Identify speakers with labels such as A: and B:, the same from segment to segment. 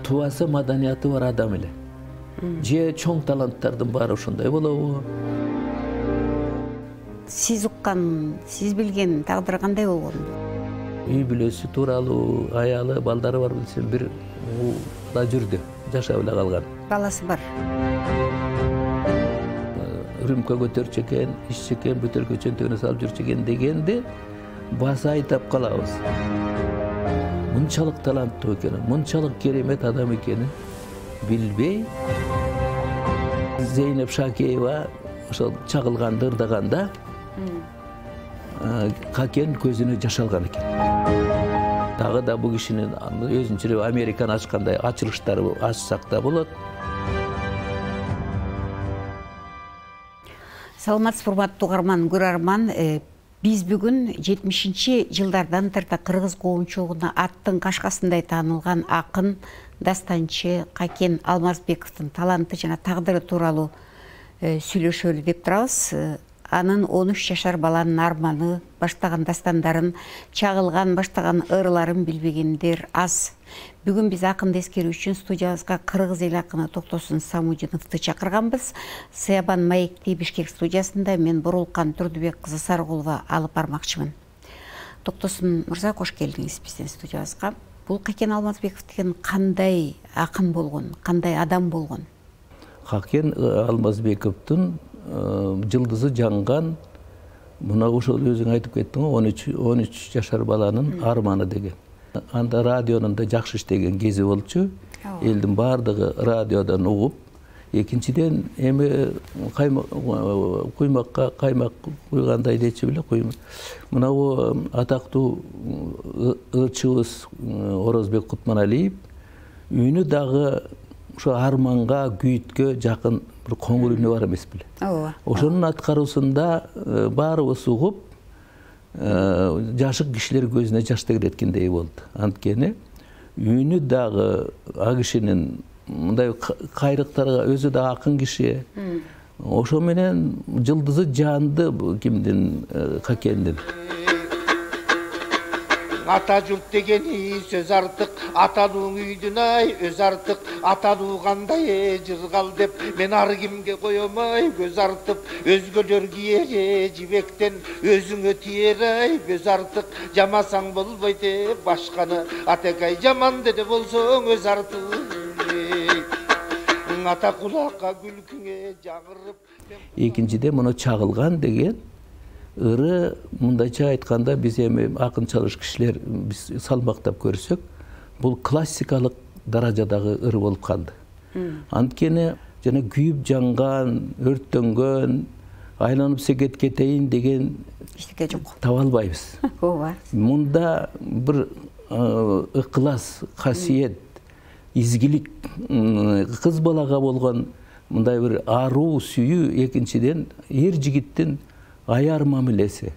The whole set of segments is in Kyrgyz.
A: тубасы маданияты бар адам эле. Же чоң таланттардын баары ошондой болобу?
B: Сиз уккан, сиз билген тагдыры кандай болгон?
A: Үй бүлөсү тууралуу, аялы, балдары бар билсем, бир да жүрдү, жашап эле калган.
B: Баласы бар.
A: Рюмка көтөрчү экен, иччү экен, бөтөлкө чөнтөгүнө салып жүрчү экен дегенди баса айтап калабыз. Мынчалык таланттуу экенин, мынчалык керемет адам экенин билбей, Зейнеп Шакеева ошол чагылганды ырдаганда Какен көзүнө жаш алган экен. Дагы да бул кишинин өзүнчө Американы ачкандай ачылыштары ачсак да болот.
B: Саламатсызбы, урматтуу угарман, көрөрман. Биз бүгүн 70-жылдардан тарта кыргыз коомчулугуна аттын кашкасындай таанылган акын, дастанчы Какен Алмазбековдун таланты жана тагдыры тууралуу сүйлөшөлү деп турабыз. Анын 13 жашар баланын арманы, баштаган дастандарын, чагылган, баштаган ырларын билбегендер аз. Бүгүн биз акынды эскерүү үчүн студиябызга кыргыз эл акыны Токтосун Самудиновду чакырганбыз. Сыябан маекти Бишкек студиясында мен Бурулкан Турдубек кызы Сарыгулова алып бармакчымын. Токтосун мырза, кош келдиңиз биздин студиябызга. Бул Какен Алмазбеков деген кандай акын болгон, кандай адам болгон?
A: Какен Алмазбековдун жылдызы жанган, мына ошол өзүң айтып кеттиң го, 13 жашар баланын арманы деген. Анда радионун да жакшы иштеген кези болчу. Элдин баардыгы радиодон угуп, экинчиден эми куймакка каймак куйгандай дечи беле, мына бу атактуу ырчыбыз Орозбек Кутманалиев үнү дагы ошо арманга, күйүткө жакын бир коңур үнү бар эмес беле. Ошонун аткаруусунда баарыбыз угуп, жашык кишилер көзүнө жаш тегереткендей болду. Анткени үнү дагы а кишинин мындай кайрыктарга өзү да акын киши. Ошо менен жылдызы жанды кимдин, Какендин.
C: Ата журт дегени сөз артык, атануу үйдүн ай өз артык, атануу кандай жыргал деп мен ар кимге коёмай көз артып, өзгөлөр кийер жибектен өзүңө тиер ай көз артык, жамасаң болбойт башканы, атекай жаман деде болсоң өз артык. Ата кулакка күлкүңө жагырып.
A: Экинчиде муну чагылган деген ыры, мындайча айтканда, биз эми акын чалыш кишилер биз салмактап көрсөк, бул классикалык даражадагы ыр болуп калды. Анткени жана күйүп жанган, өрттөнгөн, айланып секет кетейин деген
B: эчтеке жок.
A: Таба албайбыз.
B: Ооба.
A: Мунда бир ыкылас, касиет, изгилик, кыз балага болгон мындай бир аруу сүйүү, экинчиден эр жигиттин аяр мамилеси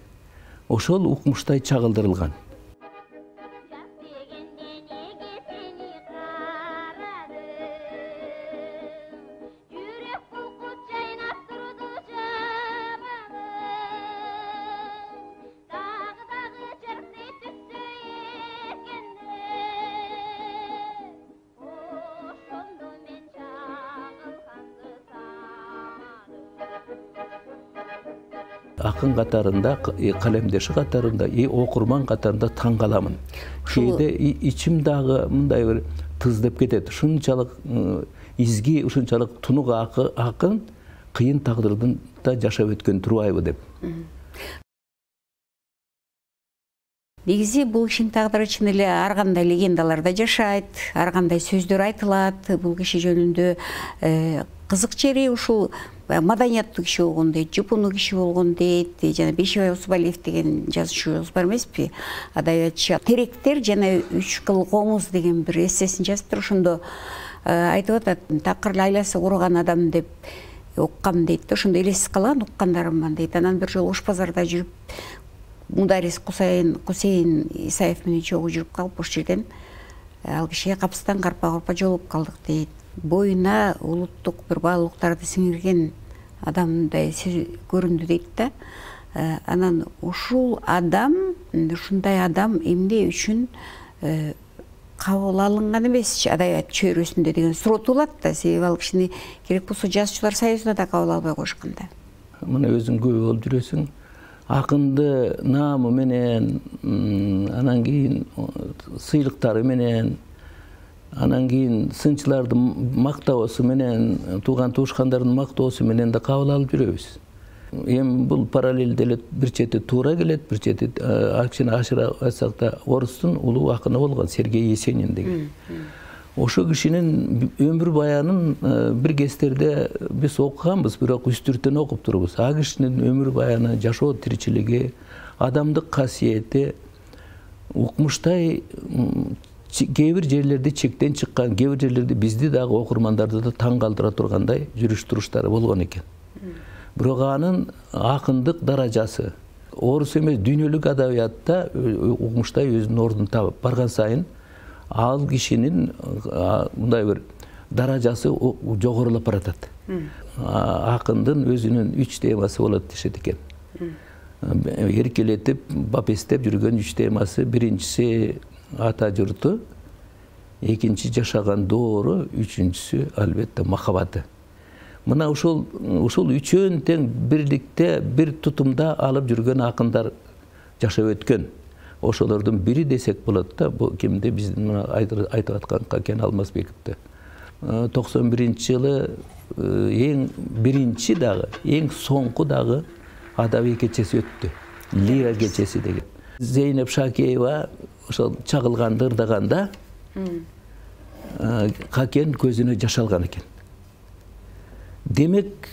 A: ошол укмуштай чагылдырылган. Акын катарында, калемдеши катарында, окурман катарында таң каламын. Кээде ичим дагы мындай бир тыз деп кетет. Ушунчалык изги, ушунчалык тунук акын кыйын тагдырдын да жашап өткөн турбайбы деп.
B: Негизи бул кишинин тагдыры чын эле ар кандай легендаларда жашайт, ар кандай сөздөр айтылат. Бул киши жөнүндө кызык жери ушул маданияттуу киши болгон дейт, жупуну киши болгон дейт. Жана Бейшебай Усубалиев деген жазуучубуз бар эмеспи? Адабиятчы. Теректер жана 3 кыл комуз деген бир эссесин жазыптыр. Ошондо айтып атат, такыр айласы курган адам деп уккам дейт. Ошондо элесиз калган уккандарыман дейт. Анан бир жолу Ош базарда жүрүп, Мударис Кусейин Исаев менен чогуу жүрүп калып, ош жерден ал кишиге капыстан карпа жолугуп калдык дейт. Боюна улуттук бир баалуулуктарды сиңирген адамдай көрүндү дейт да. Анан ушул адам, ушундай адам эмне үчүн кабыл алынган эмес адабият чөйрөсүндө деген суроо туулат да. Себеби ал кишини керек болсо жазуучулар союзуна да кабыл албай коюшкан да.
A: Мына өзүң күбө болуп жүрөсүң. Акынды наамы менен, анан кийин сыйлыктары менен, анан кийин сынчылардын мактоосу менен, тууган туушкандардын мактоосу менен да кабыл алып жүрөбүз. Эми бул параллелде эле бир чети туура келет, бир чети кичине ашыра айтсак да орустун улуу акыны болгон Сергей Есенин деген. Ошо кишинин өмүр баянын бир кездерде биз окуганбыз, бирок үстүртөн окуп турбуз. А кишинин өмүр баяны, жашоо тиричилиги, адамдык касиети укмуштай кээ бир жерлерде чектен чыккан, кээ бир жерлерде бизди дагы окурмандарды да таң калтыра тургандай жүрүш туруштары болгон экен. Бирок анын акындык даражасы орус эмес дүйнөлүк адабиятта укмуштай өзүнүн ордун табып барган сайын ал кишинин мындай бир даражасы жогорулап баратат. Акындын өзүнүн 3 темасы болот дешет экен. Эркелетип, бапестеп жүргөн 3 темасы: биринчиси ата журту, экинчи жашаган доору, үчүнчүсү албетте махабаты. Мына ушул үчөөнү тең бирликте, бир тутумда алып жүргөн акындар жашап өткөн. Ошолордун бири десек болот да. Бул кимди? Биздин айтып аткан Какен Алмазбековду. 91-жылы эң биринчи дагы, эң соңку дагы адабий кечеси өттү. Лира кечеси деген. Зейнеп Шакеева ошол чагылганды ырдаганда Какен көзүнө жаш алган экен. Демек,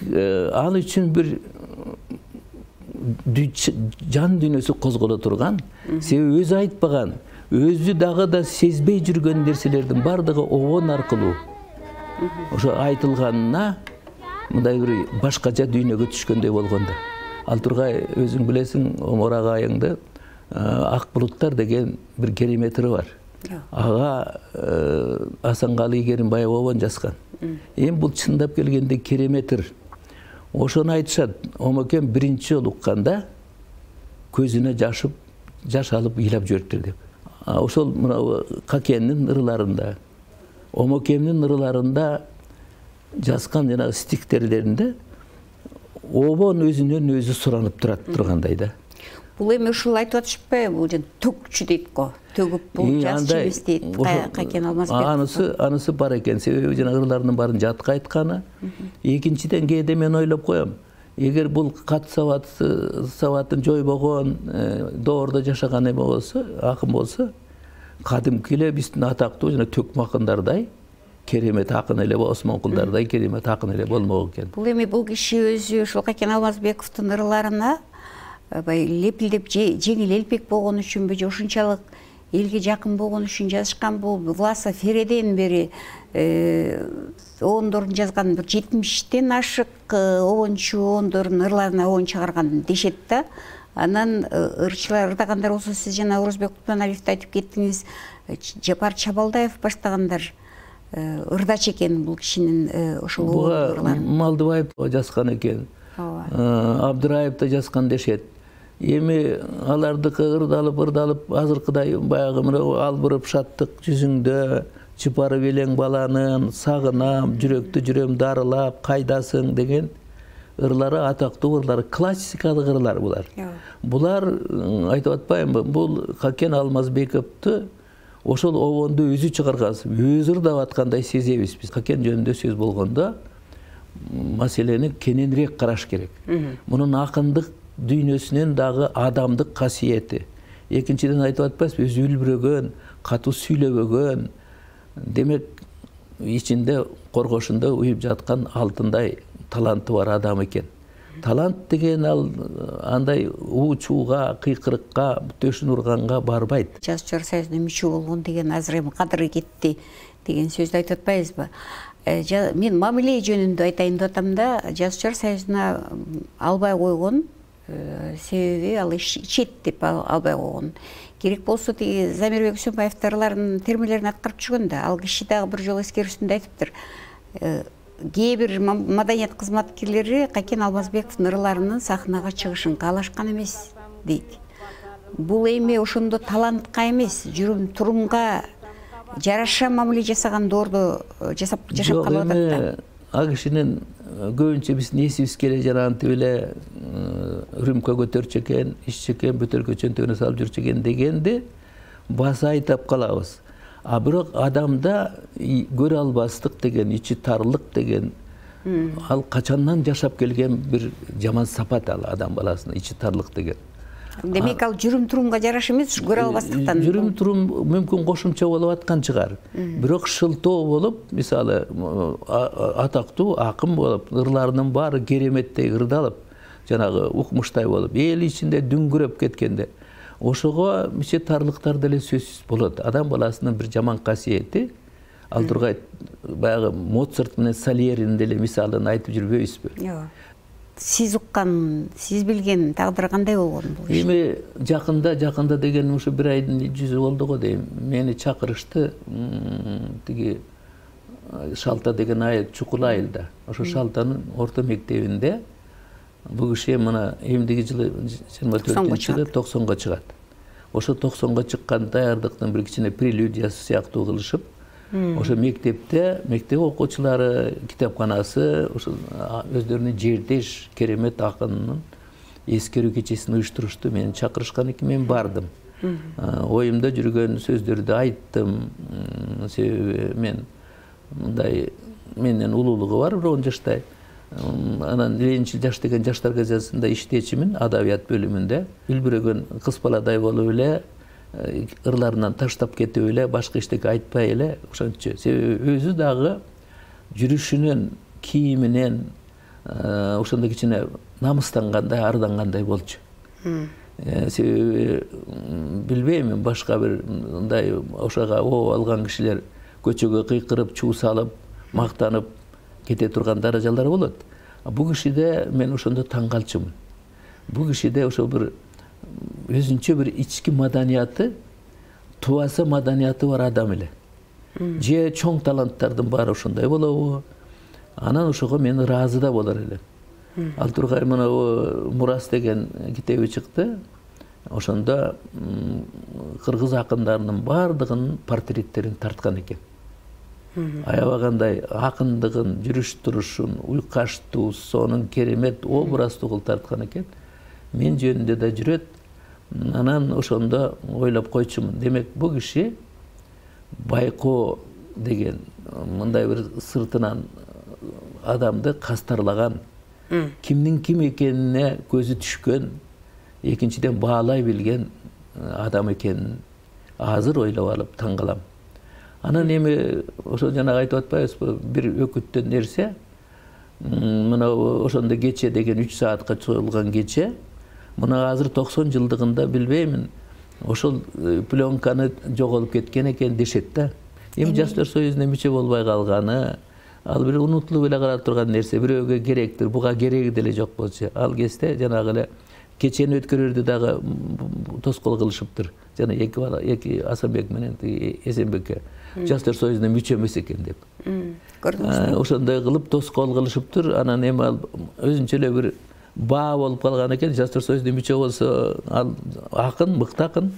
A: ал үчүн бир жан дүйнөсү козголо турган, себеби өзү айтпаган, өзү дагы да сезбей жүргөн нерселердин бардыгы обон аркылуу ошо айтылганына мындай бир башкача дүйнөгө түшкөндөй болгондо. Ал тургай өзүң билесиң, Омар агайыңды Ак булуттар деген бир кереметри бар. Ага Асанкалы Керимбаев обон жазган. Эми бул чындап келгенде кереметр. Ошону айтышат. Омакем биринчи жолу укканда көзүнө жаш алып ыйлап жибериптир деп. Ошол мына Какеннин ырыларында, Омакемдин ырыларында жазган жана стихтерлеринде обон өзүнөн өзү суранып тургандай да.
B: Бул эми ушул айтып атышпайбы? Бул жан төгчү дейт го. Төгүп бул жазчы эмес дейт Какен Алмазбеков.
A: Анысы бар экен. Себеби жана ырылардын баарын жатка айтканы. Экинчиден кээде мен ойлоп коем, эгер бул кат сабатын жойбогон, доордо жашаган эме болсо, акын болсо, кадимки эле биздин атактуу жана төкмө акындардай керемет акын эле, Осмонкулдардай керемет акын эле болмок экен.
B: Бул эми бул киши өзү ушул Какен Алмазбековдун ырыларына лепилдеп жеңил элпек болгон үчүнбү, же ушунчалык элге жакын болгон үчүн жазышкан? Бул Власа Фереден бери обондордун жазган бир 70тен ашык обончу обондордун ырларына обон чыгарган дешет да. Анан ырчылар ырдагандар болсо, сиз жана Орозбек Кутманалиевди айтып кеттиңиз, Жапар Чабалдаев баштагандар ырдачы экен бул кишинин ошол ырларын.
A: Малдыбаев жазган экен, Абдыраев да жазган дешет. Эми алардыкы ырдалып азыркыдай баягы мына албырып шаттык жүзүңдө чыпарып элең баланын, сагынам, жүрөктү жүрөм дарылап, кайдасың деген ырлары атактуу ырлар, классикалык ырлар булар. Булар айтып атпаймынбы? Бул Какен Алмазбековду ошол обонду өзү чыгарган, өзү ырдап аткандай сезебиз биз. Какен жөнүндө сөз болгондо маселени кененирээк караш керек. Мунун акындык дүйнөсүнөн дагы адамдык касиети. Экинчиден айтып атпайсызбы, өзү үлбүрөгөн, катуу сүйлөбөгөн, демек ичинде коргошунда уюп жаткан алтындай таланты бар адам экен. Талант деген ал андай уучууга, кыйкырыкка, төшүн урганга барбайт.
B: Жазуучулар союзуна мүчө болгон деген азыр эми кадыры кетти деген сөздү айтып атпайбызбы? Мен мамиле жөнүндө айтайын деп атам да, жазуучулар союзуна албай койгон себеби ал ичет деп албай койгон. Керек болсо тиги Замирбек Үсөнбаевдин ырларынын термелерин аткарып жүргөн да, ал киши дагы бир жолу эскерүүсүндө айтыптыр. Кээ бир маданият кызматкерлери Какен Алмазбековдун ырларынын сахнага чыгышын каалашкан эмес дейт. Бул эми ошондо талантка эмес, жүрүм турумга жараша мамиле жасаган доорду жашап калып атат да.
A: Ал кишинин көбүнчө биздин эсибиз келе жанагынтип эле рюмка көтөрчү экен, иччү экен, бөтөлкө чөнтөгүнө салып жүрчү экен дегенди баса айтап калабыз. А бирок адамда көрө албастык деген, ичи тарлык деген ал качандан жашап келген бир жаман сапат ал адам баласына, ичи тарлык деген.
B: Демек ал жүрүм-турумга жараша эмес, көрө албастыктан.
A: Жүрүм-турум мүмкүн кошумча болуп аткан чыгар. Бирок шылтоо болуп, мисалы, атактуу акын болуп, ырларынын баары кереметтей ырдалып, жанагы укмуштай болуп, эл ичинде дүңгүрөп кеткенде, ошого ичи тарлыктар деле сөзсүз болот. Адам баласынын бир жаман касиети, ал тургай баягы Моцарт менен Сальеринин деле мисалын айтып жүрбөйбүзбү?
B: Жок. Сиз уккан, сиз билген тагдыр кандай болгон бул?
A: Эми жакында деген ушу бир айдын жүзү болду го дейм. Мени чакырышты тиги Шалта деген айыл, Чукул айылда. Ошо Шалтанын орто мектебинде бул киши мына эмдиги жылы 24-жылы 90го чыгат. Ошо 90го чыккан даярдыктын бир кичине прелюдиясы сыяктуу кылышып, ошо мектеп окуучулары, китепканасы ошо өздөрүнүн жердеш керемет акынынын эскерүү кечесин уюштурушту. Мени чакырышкан экен, мен бардым. Оюмда жүргөн сөздөрдү айттым. Себеби мен мындай менден улуулугу бар, бирок 10 жаштай. Анан Ленинчил жаш деген жаштар газетасында иштечимин, адабият бөлүмүндө. Үлбүрөгөн кыз баладай болуп эле, ырларынан таштап кетип эле, башка эчтеке айтпай эле, ошончо. Себеби өзү дагы жүрүшүнөн, кийиминен ошондой кичине намыстангандай, ардангандай болчу. Себеби билбейм, башка бир мындай ошого оо алган кишилер көчөгө кыйкырып, чуу салып, мактанып кете турган даражалар болот. Бул кишиде мен ошондо таң калчумун. Бул кишиде ошо бир өзүнчө бир ички маданияты, тубаса маданияты бар адам эле. Же чоң таланттардын баары ошондой болобу? Анан ошого мен ыраазы да болор элем. Ал тургай мына Мурас деген китеби чыкты. Ошондо кыргыз акындарынын баардыгынын портреттерин тарткан экен. Аябагандай акындыгын, жүрүш-турушун, уйкаштуу, сонун керемет образдуу кылып тарткан экен. Мен жөнүндө да жүрөт. Анан ошондо ойлоп койчумун. Демек, бул киши Байкоо деген мындай бир сыртынан адамды кастарлаган, кимдин ким экенине көзү түшкөн, экинчиден баалай билген адам экенин азыр ойлоп алып таң калам. Анан эми ошо жанагы айтып атпайбызбы, бир өкүттөн нерсе, мына ошондо кече деген 3 саатка чоюлган кече, мына азыр 90 жылдыгында билбеймин, ошол пленканы жоголуп кеткен экен дешет да. Эми Жаштар союзуна мүчө болбой калганы, ал бир унутулуп эле кала турган нерсе, бирөөгө керектир, буга кереги деле жок болчу. Ал кезде жанагы эле кечени өткөрөрдү дагы тоскоол кылышыптыр. Жана эки Асанбек менен Эсенбекке Жаштар союзуна мүчө эмес экен деп. Көрдүңүзбү? Ошондой кылып тоскоол кылышыптыр. Анан эми ал өзүнчө эле бир баа болуп калган экен. Жаштар союзуна мүчө болсо ал акын, мыкты акын.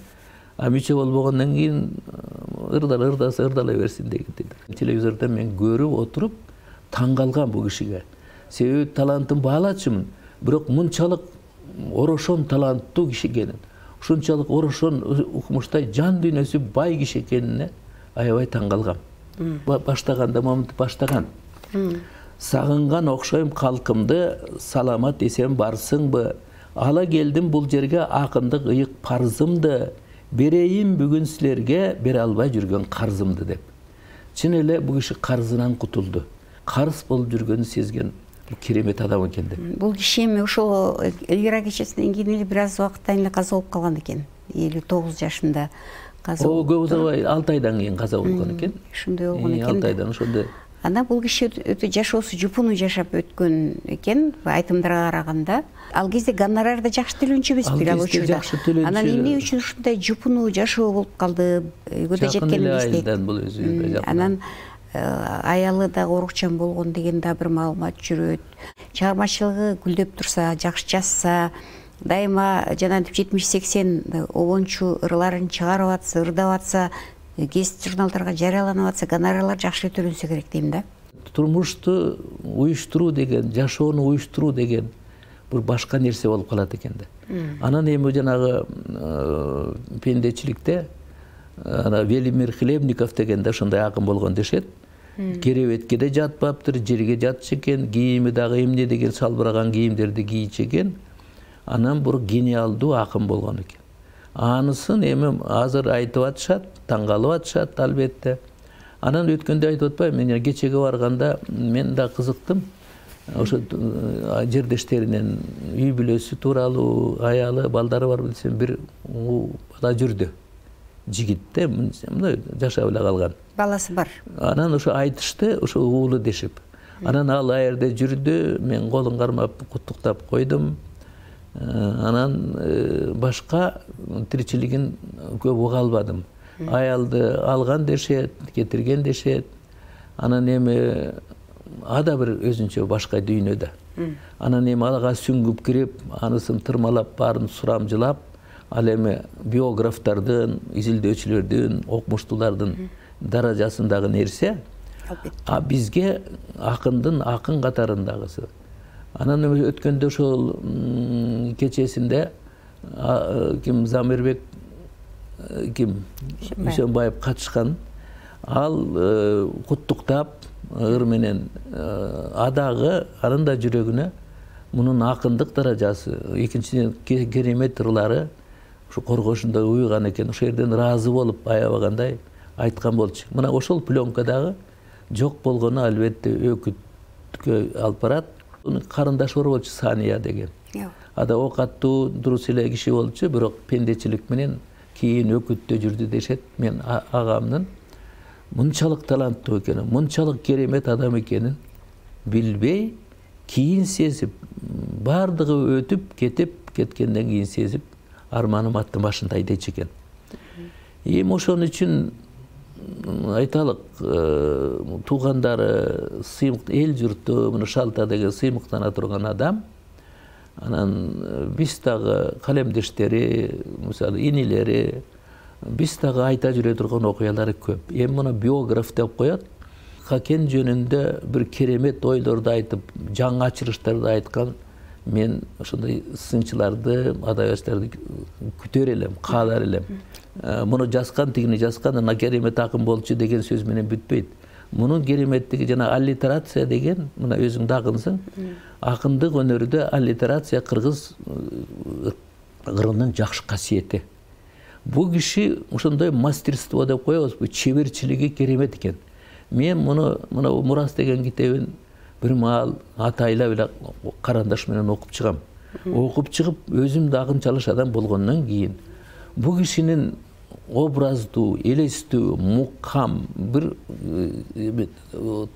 A: А мүчө болбогондон кийин ырдала берсин деген. Телевизордо мен көрүп отуруп таң калган бул кишиге. Себеби талантын баалачумун. Бирок мынчалык орошон таланттуу киши экенин, ушунчалык орошон укмуштай жан дүйнөсү бай киши экенине аябай таң калгам. Баштаганда момунтип баштаган. Сагынган окшойм калкымды, саламат эсен барсыңбы? Ала келдим бул жерге акындык ыйык парзымды, берейин бүгүн силерге бере албай жүргөн карзымды деп. Чын эле бул киши карзынан кутулду. Карыз болуп жүргөнүн сезген керемет адам экен деп.
B: Бул киши эми ошол Элвира кечесинен кийин эле бир аз убакыттан эле каза болуп калган экен. 59 жашында каза.
A: О, көп узабай 6 айдан кийин каза болгон экен.
B: Ошондой болгон экен.
A: 6 айдан ошондой.
B: Анан бул киши өтө жашоосу жупуну жашап өткөн экен, айтымдарга караганда. Ал кезде гонорар да жакшы төлөнчү эмеспи ал учурда. Анан эмне үчүн ушундай жупуну жашоо болуп калды? Үйгө жеткенибизде. Анан аялы да орукчан болгон деген да бир маалымат жүрөт. Чыгармачылыгы гүлдөп турса, жакшы жазса, дайыма жанагынтип 70-80 обончу ырларын чыгарып атса, ырдап атса, гезит журналдарга жарыяланып атса, гонорарлар жакшы төлөнсө керек дейм да.
A: Турмушту уюштуруу деген, жашоону уюштуруу деген бир башка нерсе болуп калат экен да. Анан эми жанагы пендечиликте Велимир Хлебников деген да ошондой акын болгон дешет. Керебетке де жатпаптыр, жерге жатчу экен, кийими дагы эмне деген салбыраган кийимдерди кийчү экен. Анан бир гениалдуу акын болгон экен. Анысын эми азыр айтып атышат, таң калып атышат албетте. Анан өткөндө айтып атпайбы, мен кечеге барганда мен да кызыктым. Ошо жердештеринен үй бүлөсү тууралуу, аялы, балдары бар билсем, бир бала жүрдү. Жигитте, мындай жашап эле калган.
B: Баласы бар.
A: Анан ошо айтышты, ошо уулу дешип. Анан ал жерде жүрдү, мен колун кармап куттуктап койдум. Анан башка тиричилигин көп уга албадым. Аялды алган дешет, кетирген дешет. Анан эми ада бир өзүнчө башка дүйнөдө. Анан эми ага сүңгүп кирип, анысын тырмалап, баарын сурамжылап, ал эми биографтардын, изилдөөчүлөрдүн, окумуштуулардын даражасындагы нерсе. А бизге акындын акын катарындагысы. Анан өткөндө ошол кечесинде ким Замирбек Дүйшөнбаев катышкан. Ал куттуктап ыр менен адагы анын да жүрөгүнө мунун акындык даражасы, экинчиден керемет ырлары ушу коргошунда уйган экен. Ошол жерден ыраазы болуп аябагандай айткан болчу. Мына ошол пленкадагы жок болгону албетте өкүткө алып барат. Карындаш бар болчу Сания деген. Ада окаттуу, дурус эле киши болчу, бирок пендечилик менен кийин өкүттө жүрдү дешет. Мен агамдын мынчалык таланттуу экенин, мынчалык керемет адам экенин билбей, кийин сезип, бардыгы өтүп кеткенден кийин сезип, арманым аттын башында дейчү экен. Эми ошон үчүн айталык, туугандары, эл журту, мына Шалта деген сыймыктана турган адам. Анан биз дагы калемдештери, мисалы инилери, биз дагы айта жүрө турган окуялары көп. Эми мына биограф деп коет. Хакен жөнүндө бир керемет ойлорду айтып, жаңы ачырыштарды айткан мен ошондой сынчыларды, адабиятчыларды күтөр элем, каалар элем. Муну жазган, тигини жазган, ана керемет акын болчу деген сөз менен бүтпөйт. Мунун кереметтиги жана аллитерация деген, мына өзүң да акынсың. Акындык өнөрдө аллитерация кыргыз ырынын жакшы касиети. Бул киши ошондой мастерство деп коебузбу, чеберчилиги керемет экен. Мен муну мына Мурас деген китебин бир маал атайлап эле карандаш менен окуп чыгам. Окуп чыгып, өзүм да акынчалыш адам болгондон кийин бул кишинин образдуу, элестүү, мукам бир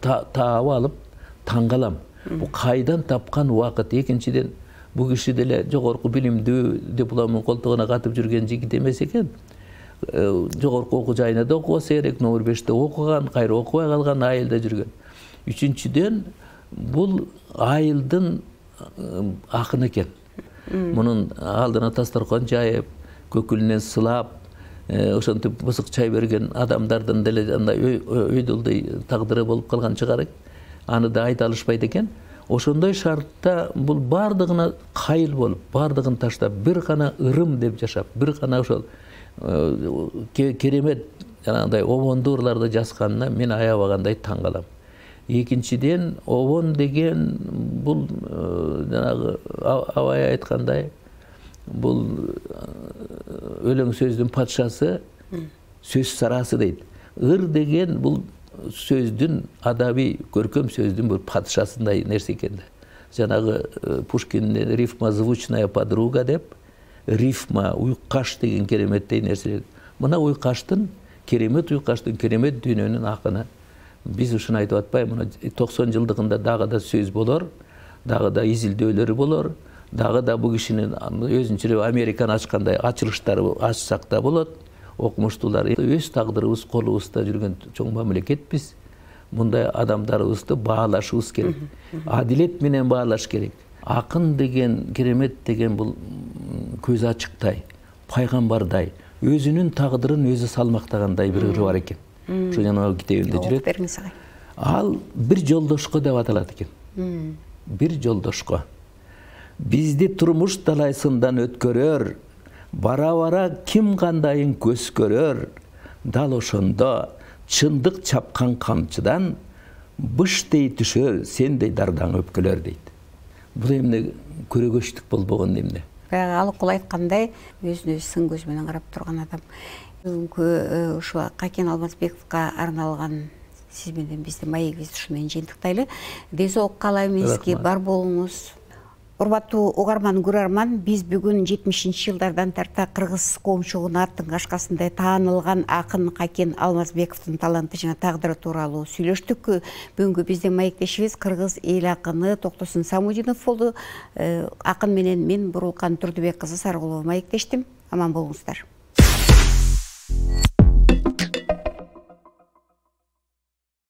A: таап алып таң калам. Бул кайдан тапкан убакыт? Экинчиден, бул киши деле жогорку билимдүү, дипломун колтугуна катып жүргөн жигит эмес экен. Жогорку окуу жайына да окубаса керек, номер 5-те окуган, кайра окубай калган, айылда жүргөн. Үчүнчүдөн, бул айылдын акыны экен. Мунун алдына дасторкон жайып, көкүлүнөн сылап, ошентип бысык чай берген адамдардын деле андай өйдөлдөй тагдыры болуп калган чыгар. Аны да айта алышпайт экен. Ошондой шартта бул бардыгына кайыл болуп, бардыгын таштап, бир гана ырым деп жашап, бир гана ошол керемет жанагындай обондуу ырларды жазганына мен аябагандай таң калам. Экинчиден, обон деген бул жанагы Абай айткандай, бул өлөң сөздүн патшасы, сөз сарасы дейт. Ыр деген бул сөздүн, адаби көркөм сөздүн бир патшасындай нерсе экен. Жанагы Пушкиндин рифма звучная подруга деп, рифма, уйкаш деген кереметтей нерсе. Мына уйкаштын, керемет уйкаштын, керемет дүйнөнүн акыны. Биз ушуну айтып атпайбы, мына 90 жылдыгында дагы да сөз болор, дагы да изилдөөлөрү болор, дагы да бул кишинин өзүнчө Американы ачкандай ачылыштары ачсак да болот. Окумуштуулар өз тагдырыбыз колубузда жүргөн чоң мамлекетпиз. Мындай адамдарыбызды баалашыбыз керек. Адилет менен баалаш керек. Акын деген, керемет деген бул көз ачыктай, пайгамбардай, өзүнүн тагдырын өзү салмактагандай бир ыры бар экен. Ушу жанагы китебимде жүрөт.
B: Бериңиз агай.
A: Ал бир жолдошко деп аталат экен. Бир жолдошко. Бизди турмуш талайсындан өткөрөр, бара-бара ким кандайын көз көрөр, дал ошондо чындык чапкан камчыдан быштей түшөр, сендей дардаң өпкөлөр дейт. Бул эмне көрөгөчтүк болбогон эмне?
B: Баягы Алыкул айткандай, өзүнө сын көз менен карап турган адам. Бүгүнкү ушу Какен Алмазбековго арналган сиз менен биздин маегибизди ушу менен жыйынтыктайлы. Дезок каалайбызки, бар болуңуз. Урматтуу угарман, көрөрман, биз бүгүн 70-жылдардан тарта кыргыз коомчулугунун аттын кашкасындай таанылган акын Какен Алмазбековдун таланты жана тагдыры тууралуу сүйлөштүк. Бүгүнкү биздин маектешибиз кыргыз эл акыны Токтосун Самудинов болду. Акын менен мен Бурулкан Турдубек кызы Сарыгулова маектештим. Аман болуңуздар.